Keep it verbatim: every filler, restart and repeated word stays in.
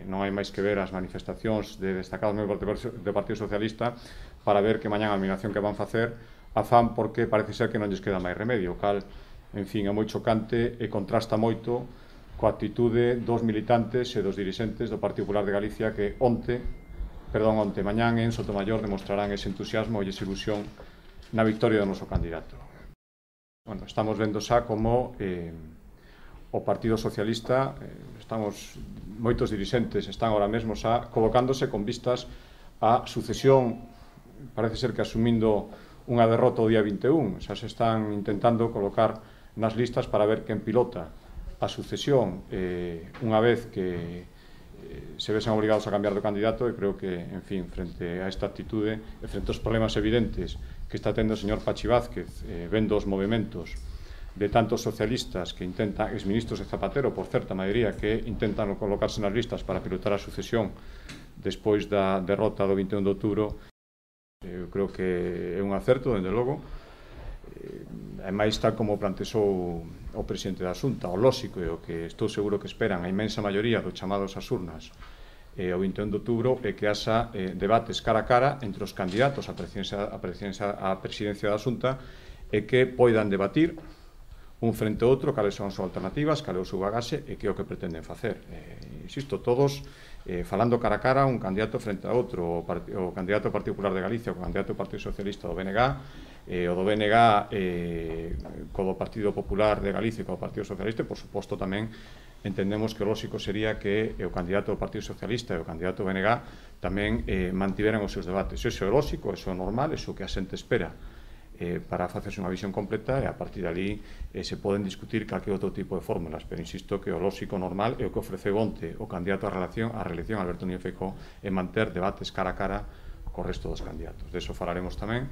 Non hai máis que ver as manifestacións de destacados membros do Partido Socialista para ver que mañán a eliminación que van facer a fan porque parece ser que non lles queda máis remedio, o cal, en fin, é moi chocante e contrasta moito coa actitude dos militantes e dos dirixentes do Partido Popular de Galicia que onte, perdón, onte mañán en Sotomayor demostrarán ese entusiasmo e esa ilusión na victoria do noso candidato. Bueno, estamos vendo xa como eh, o Partido Socialista, eh, estamos, moitos dirixentes están ahora mesmo xa colocándose con vistas á sucesión, parece ser que asumindo unha derrota o día vinte e un, xa se están intentando colocar nas listas para ver quen pilota a sucesión eh, unha vez que eh, se vesen obrigados a cambiar de candidato, e creo que, en fin, frente a esta actitude e frente aos problemas evidentes que está tendo o señor Pachi Vázquez, eh, vendo os movimentos de tantos socialistas que intentan, exministros de Zapatero, por certa maioría, que intentan colocarse nas listas para pilotar a sucesión despois da derrota do vinte e un de outubro, eu creo que é un acerto, dende logo, e máis tal como plantexou o presidente da Xunta, o lóxico e o que estou seguro que esperan a inmensa maioría dos chamados ás urnas e o vinte e un de outubro é que haxa eh, debates cara a cara entre os candidatos á presidencia, a presidencia, a presidencia da Xunta e que poidan debatir un frente ao outro cales son as súas alternativas, cal é o seu bagaxe e que é o que pretenden facer. Eh, insisto, todos eh, falando cara a cara un candidato frente a outro, o, o candidato ao Partido Popular de Galicia, o candidato ao Partido Socialista do B N G, eh, o do B N G eh, co do Partido Popular de Galicia e co do Partido Socialista, e por suposto tamén entendemos que o lógico sería que o candidato do Partido Socialista e o candidato do B N G tamén eh, mantiveran os seus debates. Iso é o lógico, iso é normal, iso que a xente espera Eh, para facerse unha visión completa, e a partir de ali eh, se poden discutir calquer outro tipo de fórmulas, pero insisto que o lógico normal é o que ofreceu onte o candidato á reelección, á reelección Alberto Núñez Feijóo, é manter debates cara a cara co resto dos candidatos. De iso falaremos tamén.